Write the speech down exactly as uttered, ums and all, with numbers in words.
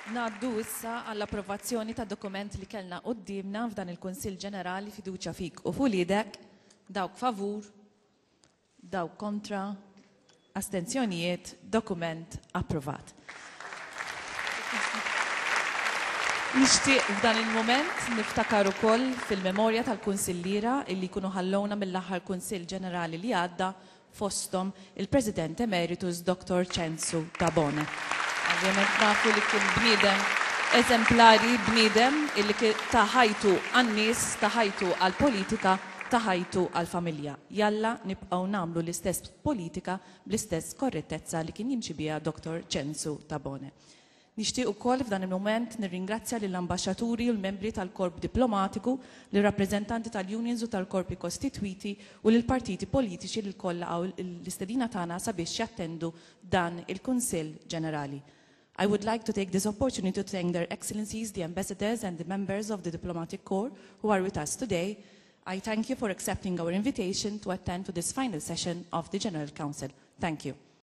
Ngħaddu issa għall-approvazzjoni ta' dokument li kellna quddiemna f'dan il-Kunsill Ġenerali fiduċja fik u f'uliedek, dawk favur, dawk kontra, astenzjonijiet, dokument approvat. Nixtieq f'dan il-mument niftakar ukoll fil-memorja tal-kunsilliera illi jkunu ħallowna mill-aħħar Kunsill Ġenerali li għadda fosthom il-President Emeritus Dr. Ċensu Tabone. Ovvjament nafu li kien bniedem eżemplari, bniedem illi ta ħajtu għan-nies, ta ħajtu għall-politika, ta ħajtu għall-familja. Jalla nibqgħu nagħmlu l-istess politika bl-istess korrettezza li kien jimxi biha Dr. Ċensu Tabone. Nixtieq ukoll f'dan il-mument nirringrazzja lill-ambaxxaturi u l-membri tal-korp diplomatiku, lir-rappreżentanti tal-unions u tal-korpi kostitwiti u lill-partiti politiċi li lkoll laqgħu l-istedina tagħna sabiex jattendu dan il-Kunsill Ġenerali. I would like to take this opportunity to thank their excellencies, the ambassadors and the members of the diplomatic corps who are with us today. I thank you for accepting our invitation to attend to this final session of the General Council. Thank you.